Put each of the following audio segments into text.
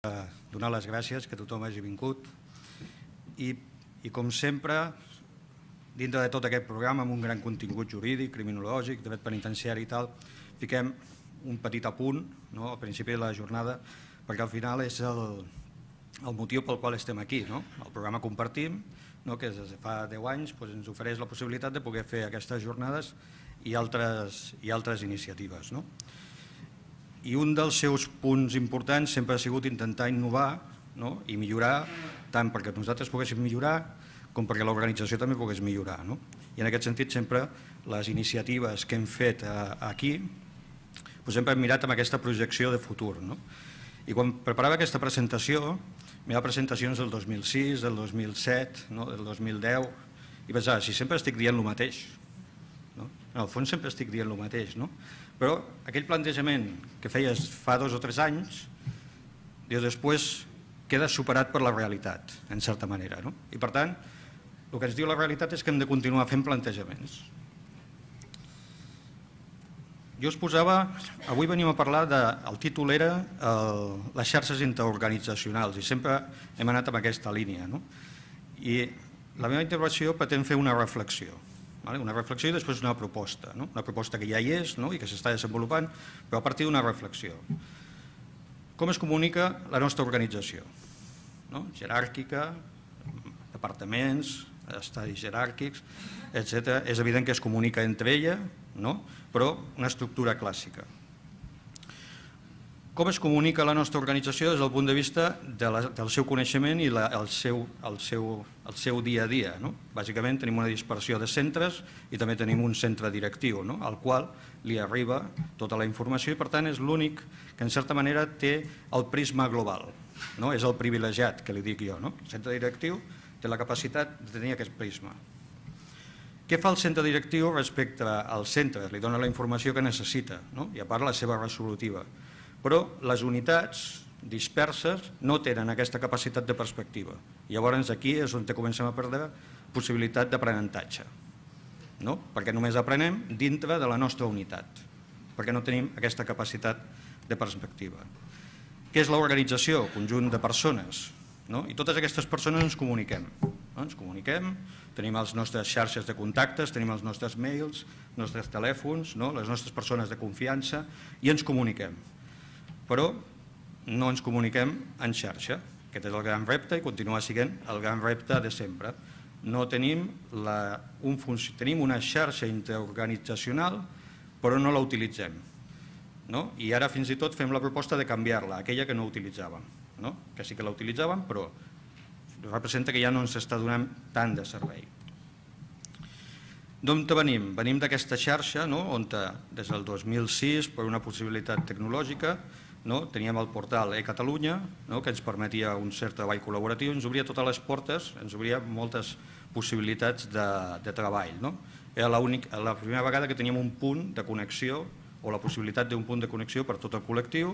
donar les gràcies que tothom hagi vingut i com sempre, dintre de tot aquest programa amb un gran contingut jurídic, criminològic, dret penitenciari i tal, fiquem un petit apunt al principi de la jornada perquè al final és el motiu pel qual estem aquí. El programa Compartim, que des de fa 10 anys ens ofereix la possibilitat de poder fer aquestes jornades i altres iniciatives. I un dels seus punts importants sempre ha sigut intentar innovar i millorar, tant perquè nosaltres poguéssim millorar com perquè l'organització també pogués millorar. I en aquest sentit sempre les iniciatives que hem fet aquí sempre hem mirat amb aquesta projecció de futur. I quan preparava aquesta presentació, mirava presentacions del 2006, del 2007, del 2010, i pensava, si sempre estic dient el mateix, en el fons sempre estic dient el mateix, però aquell plantejament que feies fa 2 o 3 anys, després queda superat per la realitat, en certa manera. I per tant, el que ens diu la realitat és que hem de continuar fent plantejaments. Jo us posava, avui venim a parlar, el títol era les xarxes interorganitzacionals i sempre hem anat amb aquesta línia. I la meva intervenció pretén fer una reflexió i després una proposta que ja hi és i que s'està desenvolupant, però a partir d'una reflexió. Com es comunica la nostra organització? Jeràrquica, departaments, estadis jeràrquics, etc. És evident que es comunica entre ella, però una estructura clàssica. Com es comunica la nostra organització des del punt de vista del seu coneixement i el seu dia a dia? Bàsicament tenim una dispersió de centres i també tenim un centre directiu al qual li arriba tota la informació i per tant és l'únic que en certa manera té el prisma global. És el privilegiat que li dic jo. El centre directiu té la capacitat de tenir aquest prisma. Què fa el centre directiu respecte als centres? Li dona la informació que necessita i a part la seva resolutiva. Però les unitats disperses no tenen aquesta capacitat de perspectiva. Llavors aquí és on comencem a perdre possibilitat d'aprenentatge, perquè només aprenem dintre de la nostra unitat, perquè no tenim aquesta capacitat de perspectiva. Què és l'organització? Conjunt de persones. I totes aquestes persones ens comuniquem. Tenim les nostres xarxes de contactes, tenim els nostres mails, els nostres telèfons, les nostres persones de confiança i ens comuniquem. Però no ens comuniquem en xarxa. Aquest és el gran repte i continua sent el gran repte de sempre. Tenim una xarxa interorganitzacional però no la utilitzem. I ara fins i tot fem la proposta de canviar-la, aquella que no utilitzàvem, que sí que la utilitzàvem però representa que ja no ens està donant tant de servei. D'on venim? Venim d'aquesta xarxa on des del 2006 per una possibilitat tecnològica teníem el portal eCatalunya que ens permetia un cert treball col·laboratiu, ens obria totes les portes, ens obria moltes possibilitats de treball. Era la primera vegada que teníem un punt de connexió o la possibilitat d'un punt de connexió per tot el col·lectiu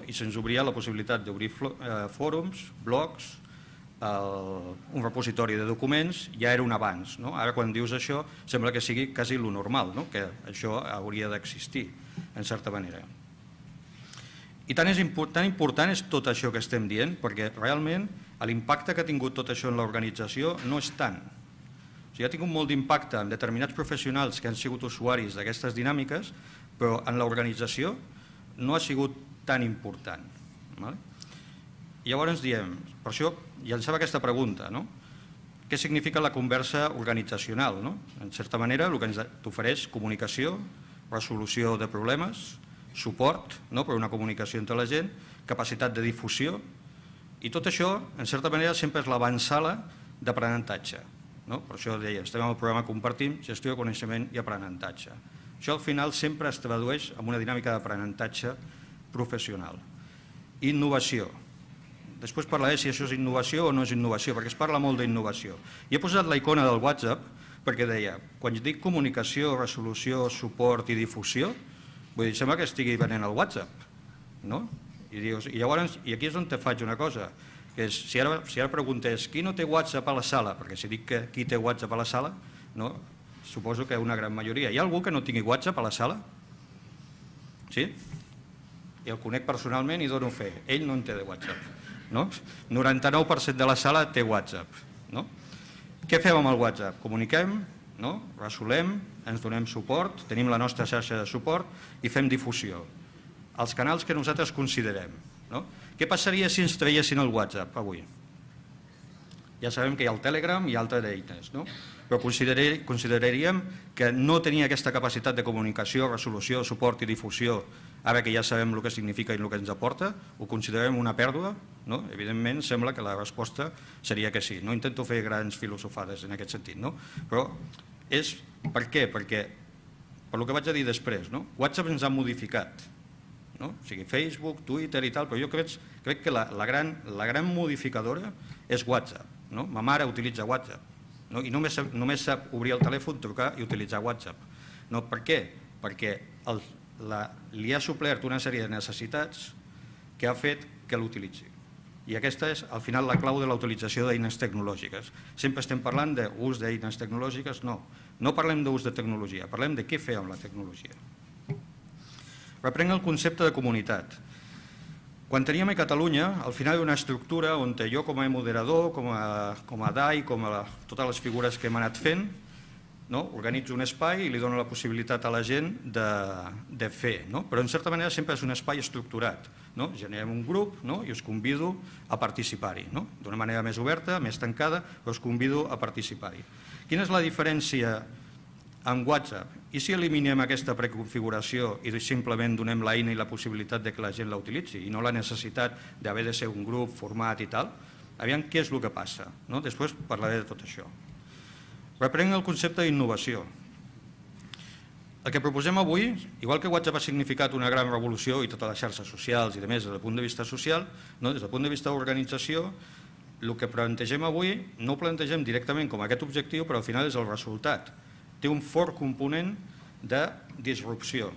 i se'ns obria la possibilitat d'obrir fòrums, blogs, un repositori de documents, ja era un avanç. Ara quan dius això sembla que sigui quasi lo normal, que això hauria d'existir en certa manera. I tan important és tot això que estem dient perquè realment l'impacte que ha tingut tot això en l'organització no és tant. Ha tingut molt d'impacte en determinats professionals que han sigut usuaris d'aquestes dinàmiques, però en l'organització no ha sigut tan important. Llavors diem, per això llançava aquesta pregunta, què significa la conversa organitzacional? En certa manera el que ens ofereix comunicació, resolució de problemes, suport per una comunicació entre la gent, capacitat de difusió i tot això en certa manera sempre és l'avantsala d'aprenentatge. Per això deia, estem en el programa Compartim, gestió de coneixement i aprenentatge. Això al final sempre es tradueix en una dinàmica d'aprenentatge professional. Innovació. Després parlaré si això és innovació o no és innovació, perquè es parla molt d'innovació. I he posat la icona del WhatsApp perquè deia, quan dic comunicació, resolució, suport i difusió, vull dir, sembla que estigui venent el WhatsApp. I aquí és on te faig una cosa, que és, si ara preguntés qui no té WhatsApp a la sala, perquè si dic que qui té WhatsApp a la sala, suposo que una gran majoria. Hi ha algú que no tingui WhatsApp a la sala? Sí? i el conec personalment i dono fe. Ell no en té de WhatsApp. 99% de la sala té WhatsApp. Què fem amb el WhatsApp? Comuniquem, resolem, ens donem suport, tenim la nostra xarxa de suport i fem difusió. Els canals que nosaltres considerem. Què passaria si ens traiessin el WhatsApp avui? Ja sabem que hi ha el Telegram i altres eines, però consideraríem que no tenia aquesta capacitat de comunicació, resolució, suport i difusió, ara que ja sabem el que significa i el que ens aporta, ho considerem una pèrdua? Evidentment, sembla que la resposta seria que sí. No intento fer grans filosofades en aquest sentit, però és per què? Perquè, per el que vaig a dir després, WhatsApp ens ha modificat, o sigui, Facebook, Twitter i tal, però jo crec que la gran modificadora és WhatsApp. Ma mare utilitza WhatsApp i només sap obrir el telèfon, trucar i utilitzar WhatsApp. Per què? Perquè li ha suplert una sèrie de necessitats que ha fet que l'utilitzi. I aquesta és, al final, la clau de la utilització d'eines tecnològiques. Sempre estem parlant d'ús d'eines tecnològiques? No parlem d'ús de tecnologia, parlem de què fer amb la tecnologia. Reprenc el concepte de comunitat. Quan teníem a Catalunya, al final hi ha una estructura on jo com a moderador, com a DAI, com a totes les figures que hem anat fent, organitzo un espai i li dono la possibilitat a la gent de fer, però en certa manera sempre és un espai estructurat. Generem un grup i us convido a participar-hi, d'una manera més oberta, més tancada, però us convido a participar-hi. Quina és la diferència amb WhatsApp? I si eliminem aquesta preconfiguració i simplement donem l'eina i la possibilitat que la gent la utilitzi i no la necessitat d'haver de ser un grup format i tal? Aviam què és el que passa. Després parlaré de tot això. Reprenc el concepte d'innovació. El que proposem avui, igual que WhatsApp ha significat una gran revolució i totes les xarxes socials i de més des del punt de vista social, des del punt de vista d'organització, el que plantegem avui no ho plantegem directament com aquest objectiu, però al final és el resultat. Té un fort component de disrupció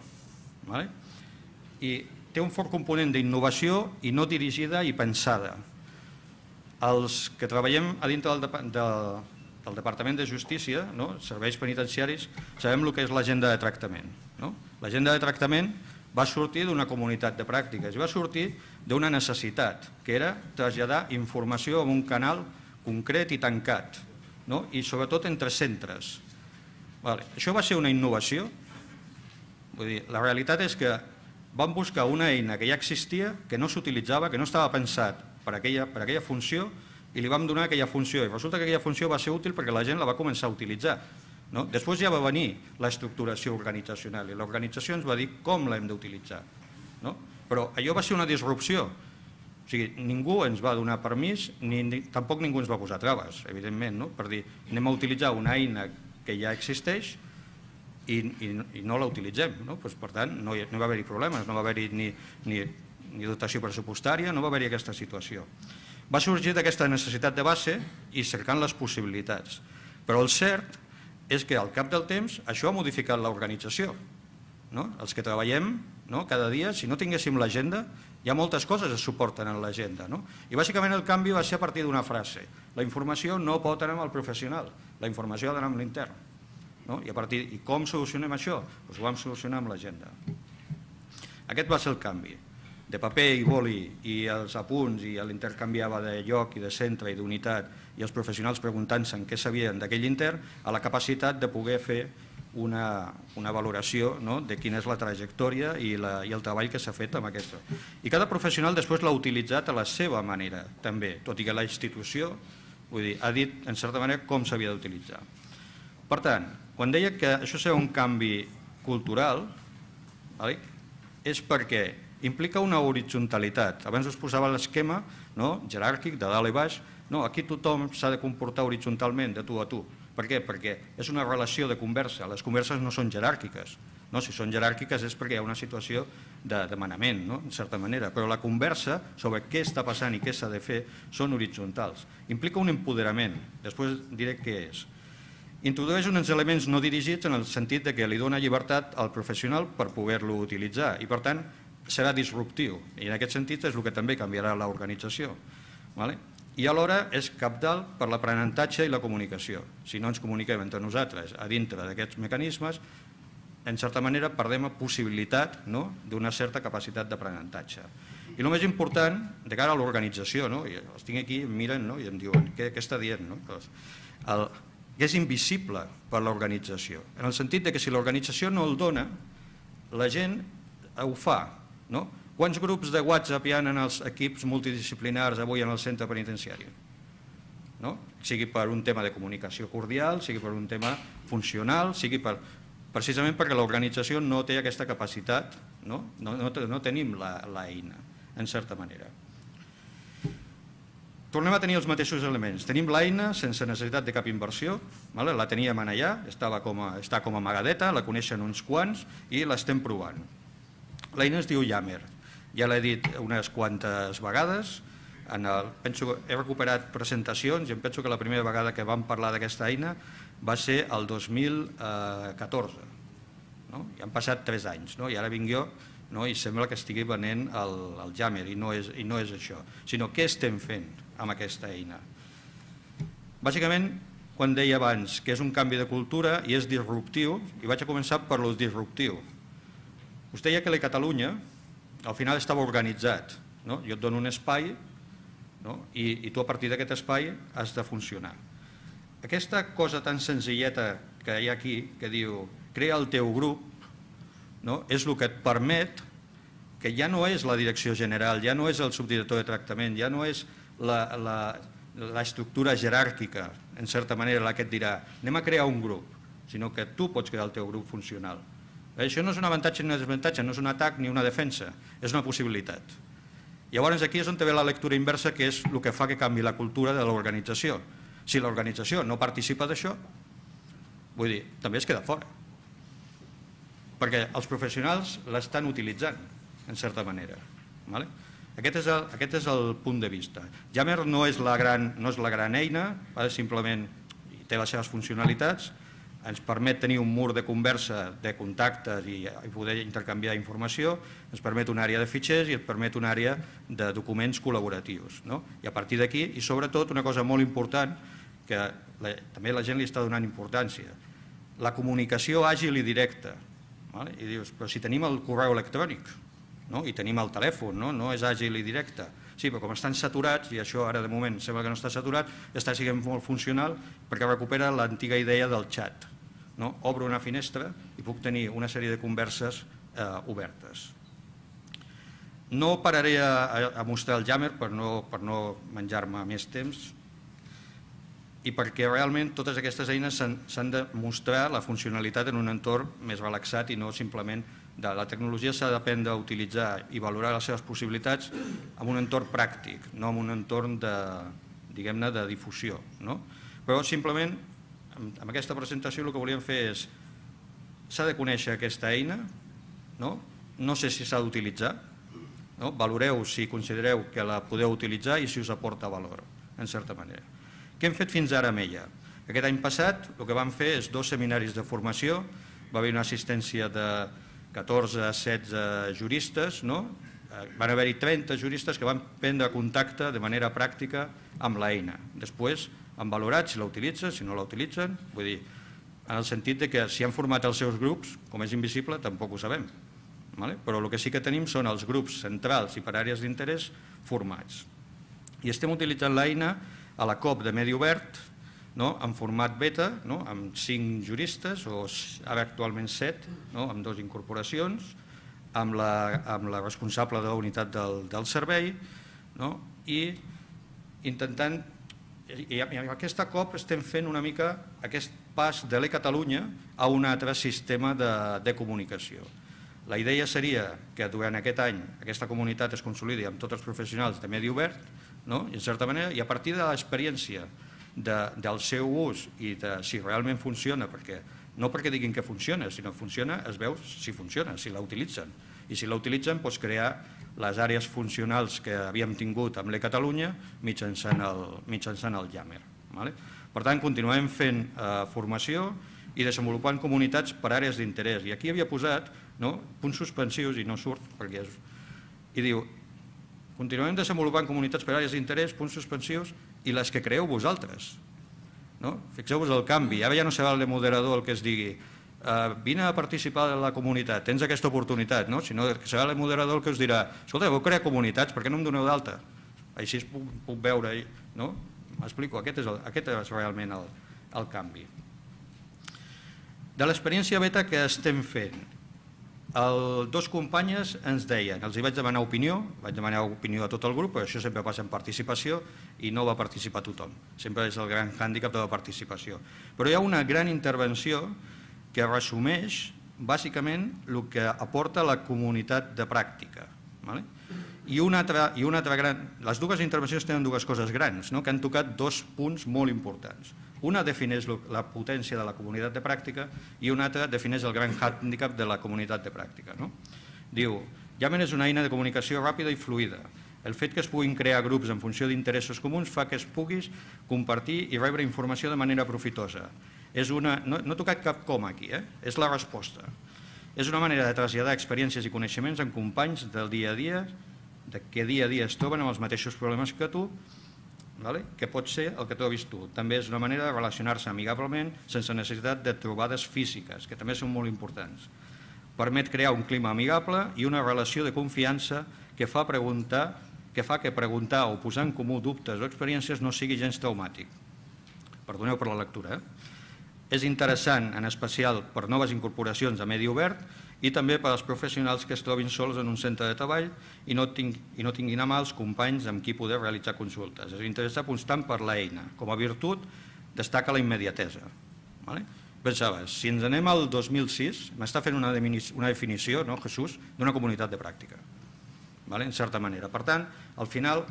i té un fort component d'innovació i no dirigida i pensada. Els que treballem a dintre del Departament de Justícia, serveis penitenciaris, sabem el que és l'agenda de tractament. L'agenda de tractament va sortir d'una comunitat de pràctiques i va sortir d'una necessitat, que era traslladar informació en un canal concret i tancat, i sobretot entre centres. Això va ser una innovació. La realitat és que vam buscar una eina que ja existia, que no s'utilitzava, que no estava pensat per aquella funció, i li vam donar aquella funció. I resulta que aquella funció va ser útil perquè la gent la va començar a utilitzar. Després ja va venir l'estructuració organitzacional i l'organització ens va dir com l'hem d'utilitzar. Però allò va ser una disrupció. O sigui, ningú ens va donar permís, tampoc ningú ens va posar traves, evidentment, per dir anem a utilitzar una eina que ja existeix i no la utilitzem. Per tant, no va haver-hi problemes, no va haver-hi ni dotació pressupostària, no va haver-hi aquesta situació. Va sorgir d'aquesta necessitat de base i cercant les possibilitats. Però el cert és que al cap del temps això ha modificat l'organització. Els que treballem cada dia, si no tinguéssim l'agenda, hi ha moltes coses que es suporten en l'agenda. I bàsicament el canvi va ser a partir d'una frase. La informació no pot anar amb el professional, la informació ha d'anar amb l'intern. I com solucionem això? Ho vam solucionar amb l'agenda. Aquest va ser el canvi. De paper i boli i els apunts i l'intercanviava de lloc i de centre i d'unitat i els professionals preguntant-se en què sabien d'aquell intern a la capacitat de poder fer una valoració de quina és la trajectòria i el treball que s'ha fet amb aquesta. I cada professional després l'ha utilitzat a la seva manera també, tot i que la institució ha dit en certa manera com s'havia d'utilitzar. Per tant, quan deia que això serà un canvi cultural, és perquè implica una horitzontalitat. Abans us posava l'esquema jeràrquic de dalt i baix. Aquí tothom s'ha de comportar horitzontalment, de tu a tu. Per què? Perquè és una relació de conversa. Les converses no són jeràrquiques. Si són jeràrquiques és perquè hi ha una situació de demanament, en certa manera. Però la conversa sobre què està passant i què s'ha de fer són horitzontals. Implica un empoderament. Després diré què és. Introdueix uns elements no dirigits en el sentit que li dona llibertat al professional per poder-lo utilitzar i, per tant, serà disruptiu i en aquest sentit és el que també canviarà l'organització. I alhora és cabdal per l'aprenentatge i la comunicació. Si no ens comuniquem entre nosaltres a dintre d'aquests mecanismes, en certa manera, perdem la possibilitat d'una certa capacitat d'aprenentatge. I el més important, de cara a l'organització, els tinc aquí, em miren i em diuen, què està dient? Que és invisible per l'organització, en el sentit que si l'organització no el dona, la gent ho fa. Quants grups de WhatsApp hi ha en els equips multidisciplinars avui en el centre penitenciari? Sigui per un tema de comunicació cordial, sigui per un tema funcional, sigui precisament perquè l'organització no té aquesta capacitat, no tenim l'eina, en certa manera. Tornem a tenir els mateixos elements. Tenim l'eina sense necessitat de cap inversió, la teníem allà, està com a amagadeta, la coneixen uns quants i l'estem provant. L'eina es diu Yammer, ja l'he dit unes quantes vegades, he recuperat presentacions i em penso que la primera vegada que vam parlar d'aquesta eina va ser el 2014. Ja han passat 3 anys i ara vinc jo i sembla que estigui venent el Yammer i no és això, sinó què estem fent amb aquesta eina. Bàsicament, quan deia abans que és un canvi de cultura i és disruptiu, i vaig a començar per lo disruptiu. Us deia que la Catalunya al final estava organitzat. Jo et dono un espai i tu a partir d'aquest espai has de funcionar. Aquesta cosa tan senzilleta que hi ha aquí, que diu crea el teu grup, és el que et permet que ja no és la direcció general, ja no és el subdirector de tractament, ja no és l'estructura jeràrquica, en certa manera, la que et dirà anem a crear un grup, sinó que tu pots crear el teu grup funcional. Això no és un avantatge ni un desavantatge, no és un atac ni una defensa, és una possibilitat. Llavors aquí és on ve la lectura inversa, que és el que fa que canvi la cultura de l'organització. Si l'organització no participa d'això, vull dir, també es queda fora. Perquè els professionals l'estan utilitzant, en certa manera. Aquest és el punt de vista. Yammer no és la gran eina, simplement té les seves funcionalitats, ens permet tenir un mur de conversa, de contactes i poder intercanviar informació, ens permet una àrea de fitxers i ens permet una àrea de documents col·laboratius. I a partir d'aquí, i sobretot una cosa molt important, que també la gent li està donant importància, la comunicació àgil i directa. I dius, però si tenim el correu electrònic i tenim el telèfon, no és àgil i directe. Sí, però com estan saturats, i això ara de moment sembla que no està saturat, està sent molt funcional perquè recupera l'antiga idea del xat. Obro una finestra i puc tenir una sèrie de converses obertes. No pararé a mostrar el Yammer per no menjar-me més temps i perquè realment totes aquestes eines s'han de mostrar la funcionalitat en un entorn més relaxat i no simplement la tecnologia s'ha d'aprendre a utilitzar i valorar les seves possibilitats en un entorn pràctic, no en un entorn de difusió. Però simplement, amb aquesta presentació el que volíem fer és s'ha de conèixer aquesta eina, no sé si s'ha d'utilitzar, valoreu si considereu que la podeu utilitzar i si us aporta valor, en certa manera. Què hem fet fins ara amb ella? Aquest any passat el que vam fer és 2 seminaris de formació, va haver una assistència de 14-16 juristes, van haver-hi 30 juristes que van prendre contacte de manera pràctica amb l'eina. Després han valorat si la utilitzen, si no la utilitzen, vull dir, en el sentit que si han format els seus grups, com és invisible, tampoc ho sabem. Però el que sí que tenim són els grups centrals i per àrees d'interès formats. I estem utilitzant l'eina a la COP de Medi Obert, en format beta, amb 5 juristes, o ara actualment 7, amb 2 incorporacions, amb la responsable de la unitat del servei, i intentant, i amb aquesta COP estem fent una mica aquest pas de l'e-Catalunya a un altre sistema de comunicació. La idea seria que durant aquest any aquesta comunitat es consolidi amb tots els professionals de Medi Obert, en certa manera, i a partir de l'experiència del seu ús i de si realment funciona, no perquè diguin que funciona, sinó que funciona, es veu si funciona, si la utilitzen. I si la utilitzen, crear les àrees funcionals que havíem tingut amb l'e-Catalunya mitjançant el Yammer. Per tant, continuem fent formació i desenvolupant comunitats per àrees d'interès. I aquí havia posat punts suspensius, i no surt, perquè i diu, continuem desenvolupant comunitats per àrees d'interès, punts suspensius, i les que creeu vosaltres. Fixeu-vos el canvi, ara ja no serà el de moderador el que es digui vine a participar de la comunitat, tens aquesta oportunitat, si no serà el moderador el que us dirà, escolta, vau crear comunitats, per què no em doneu d'alta? Així puc veure, no? M'explico, aquest és realment el canvi. De l'experiència beta que estem fent, dos companyes ens deien, els hi vaig demanar opinió a tot el grup, però això sempre passa en participació i no va participar tothom. Sempre és el gran hàndicap de la participació. Però hi ha una gran intervenció que resumeix bàsicament el que aporta la comunitat de pràctica. I una altra gran... Les dues intervencions tenen dues coses grans, que han tocat dos punts molt importants. Una defineix la potència de la comunitat de pràctica i una altra defineix el gran hàndicap de la comunitat de pràctica. Diu, Yamen és una eina de comunicació ràpida i fluida. El fet que es puguin crear grups en funció d'interessos comuns fa que es puguis compartir i rebre informació de manera profitosa. No he tocat cap coma aquí, és la resposta. És una manera de traslladar experiències i coneixements en companys del dia a dia, que dia a dia es troben amb els mateixos problemes que tu, que pot ser el que trobis tu. També és una manera de relacionar-se amigablement sense necessitat de trobades físiques, que també són molt importants. Permet crear un clima amigable i una relació de confiança que fa que preguntar o posar en comú dubtes o experiències no sigui gens traumàtic. Perdoneu per la lectura. És interessant, en especial per noves incorporacions a medi obert i també per als professionals que es trobin sols en un centre de treball i no tinguin a mà els companys amb qui poder realitzar consultes. És interès constant per l'eina. Com a virtut, destaca la immediatesa. Pensava, si ens anem al 2006, m'està fent una definició, Jesús, d'una comunitat de pràctica, en certa manera. Per tant, al final,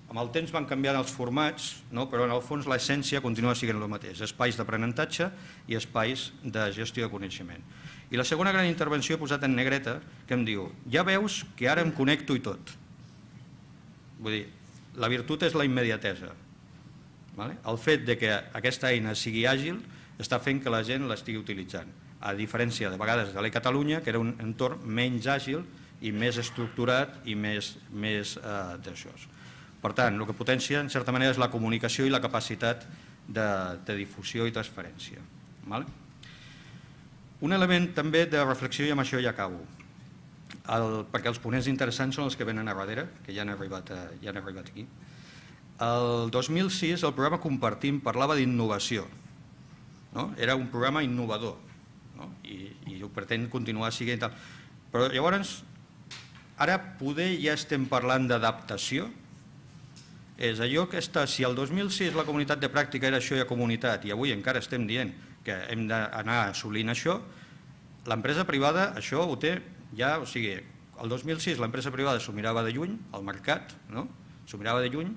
amb el temps van canviant els formats, però en el fons l'essència continua sent el mateix, espais d'aprenentatge i espais de gestió de coneixement. I la segona gran intervenció he posat en negreta, que em diu, ja veus que ara em connecto i tot. Vull dir, la virtut és la immediatesa. El fet que aquesta eina sigui àgil està fent que la gent l'estigui utilitzant, a diferència de vegades de l'e-Catalunya, que era un entorn menys àgil i més estructurat i més d'això. Per tant, el que potencia, en certa manera, és la comunicació i la capacitat de difusió i transferència. Un element també de reflexió, i amb això ja acabo, perquè els ponents interessants són els que venen a darrere, que ja han arribat aquí. El 2006 el programa Compartim parlava d'innovació. Era un programa innovador i ho pretén continuar sent. Però llavors, ara poder ja estem parlant d'adaptació. És allò que si el 2006 la comunitat de pràctica era això i a comunitat i avui encara estem dient que hem d'anar assolint això, l'empresa privada això ho té ja, o sigui, el 2006 l'empresa privada s'ho mirava de lluny, el mercat s'ho mirava de lluny,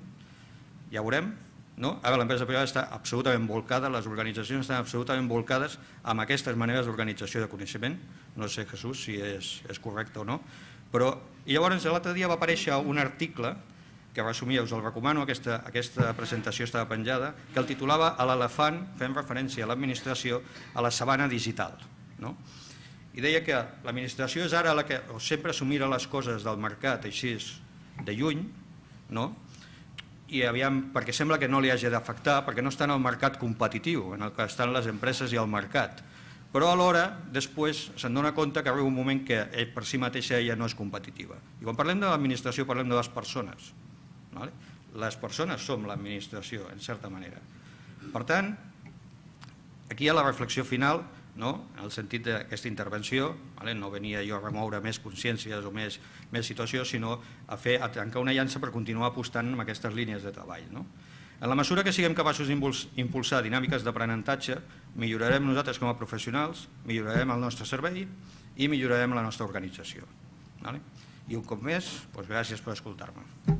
ja veurem, ara l'empresa privada està absolutament volcada, les organitzacions estan absolutament volcades amb aquestes maneres d'organització de coneixement, no sé, Jesús, si és correcte o no, però i llavors l'altre dia va aparèixer un article que resumia, us el recomano, aquesta presentació estava penjada, que el titulava "A l'elefant, fem referència a l'administració, a la sabana digital". I deia que l'administració és ara la que sempre s'ho mira les coses del mercat així de lluny, i perquè sembla que no li hagi d'afectar, perquè no està en el mercat competitiu, en el que estan les empreses i el mercat. Però alhora, després, se'n dona compte que arriba un moment que per si mateixa ella no és competitiva. I quan parlem de l'administració parlem de les persones. Les persones som l'administració, en certa manera. Per tant, aquí hi ha la reflexió final, en el sentit d'aquesta intervenció, no venia jo a remoure més consciències o més situacions, sinó a trencar una llança per continuar apostant en aquestes línies de treball. En la mesura que siguem capaços d'impulsar dinàmiques d'aprenentatge, millorarem nosaltres com a professionals, millorarem el nostre servei i millorarem la nostra organització. I un cop més, gràcies per escoltar-me.